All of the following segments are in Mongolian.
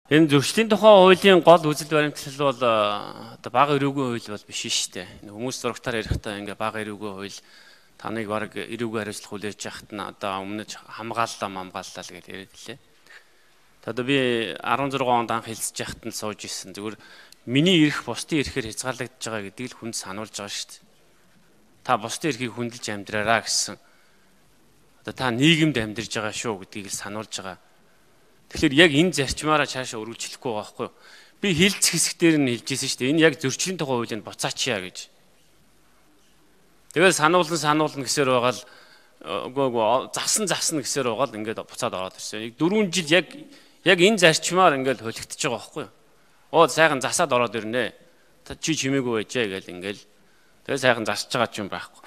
Энэ зөрчлийн тухай хуулийн гол үзэл баримтлал бол одоо бага эрүүгийн хууль бол биш шүү дээ. Хүмүүс зурагтаар ярихдаа ингээ бага эрүүгийн хууль таныг баг эрүүгийн хариуцлага хүлээж яхад нь одоо өмнөж хамгааллаа л гэж яриад лээ. Одоо би 16 онд анх хэлцэж яхад нь сууж исэн. Зүгээр миний эрх бусдын эрхээр хязгаарлагдж байгаа гэдгийг л хүнд сануулж байгаа шүү дээ. Та бусдын эрхийг хүндэлж амьдраараа гэсэн. Одоо та нийгэмд амьдарж байгаа шүү гэдгийг л сануулж байгаа. Тэгэхээр яг энэ зарчмаараа цаашаа өргөжлөхгүй байгаа байхгүй юу? Би хилцэх хэсгээр нь хэлжсэн шүү дээ. Энэ яг зөрчлийн тухай хуулийг буцаачаа гэж. Тэгээд сануулна гэсээр байгаа л үгүй засна гэсээр байгаа л ингээд буцаад ороод ирсэн. 4 жил яг энэ зарчмаар ингээд холигдож байгаа байхгүй юу? Сайхан засаад ороод ирнэ. Чи чимээгүй байжээ гэл ингээд. Тэгээд сайхан засаж байгаа ч юм байхгүй.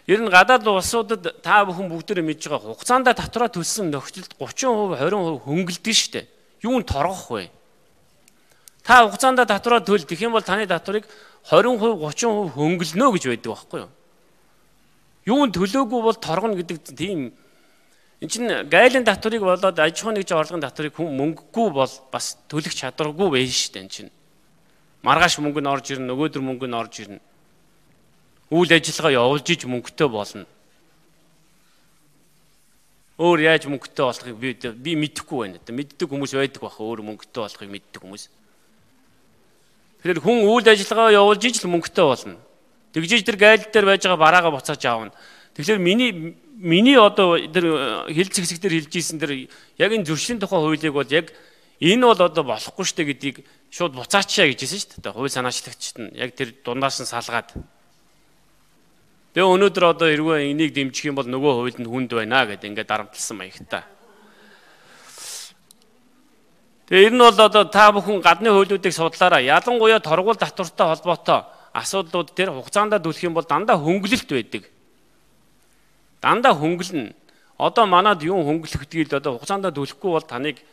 Ер нь гадаад улсуудад та бүхэн бүгдээрээ мэдж байгаа хугацаанд татвараа төлсөн нөхцөлд 30%, 20% хөнгөлдөг шүү дээ. Юунд торгох вэ? Та хугацаанд татвараа төлөх юм бол таны татварыг 20%, 30% хөнгөлнө гэж байдаг байхгүй юу? Юунд төлөөгүй бол торгоно гэдэг тийм энэ чинь гайлын татварыг болоод аж ахуйн нэгж орлогын татварыг хүн мөнгөгүй бол бас төлөх чадваргүй байж шүү дээ энэ чинь. Маргааш мөнгө нь орж ирнэ, нөгөөдөр мөнгө нь орж ирнэ. Үйл ажиллагаа явуулж иж мөнгөтэй болно. Өөр яаж мөнгөтэй болохыг би мэдэхгүй байна. Мэддэг хүмүүс байдаг баха өөр мөнгөтэй болохыг мэддэг хүмүүс. Тэгэхээр хүн үйл ажиллагаа явуулж иж л мөнгөтэй болно. Тэгжиж тэр гайл дээр байж байгаа бараагаа буцааж аавна. Тэгэхээр миний одоо тэр хилцэх хэсгээр хэлж ийсэн тэр яг энэ зөрчлийн тухай хуулийг бол яг энэ бол одоо болохгүй штэ гэдгийг шууд буцаачаа гэж хэлсэн шүү дээ. Хууль санаачлагчид нь яг тэр дундаас нь салгаад. Тэгээ өнөөдөр одоо эргөө энийг дэмжих юм бол нөгөө хуульд нь хүнд байна гэдэг ингээд дарамтлсан маягтай. Тэгээ энэ нь бол одоо та бүхэн гадны хуулиудыг судлаараа ялангуяа торгуул татвартай холбоотой асуудлууд дээр хугацаанд төлөх юм бол дандаа хөнгөлөлт байдаг. Дандаа хөнгөлнө. Одоо манад юу хөнгөлөх гэдгийг одоо хугацаанд төлөхгүй бол таныг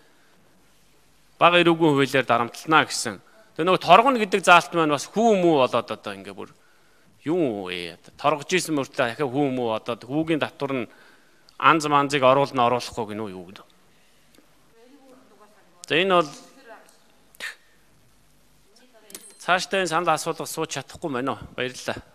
бага эрүүгийн хуулиар дарамтлана гэсэн. Тэгээ нөгөө торгоно гэдэг заалт маань бас хүү мүү болоод одоо ингээ бүр юу вэ? Торгож исэн мөртлөө дахиад хүү мүү одоо хүүгийн татвар нь анз манзыг оруулахгүй гинөө юу гэдэг. За энэ бол цаашдаа энэ санал асуулга сууж чадахгүй байна уу? Баярлалаа.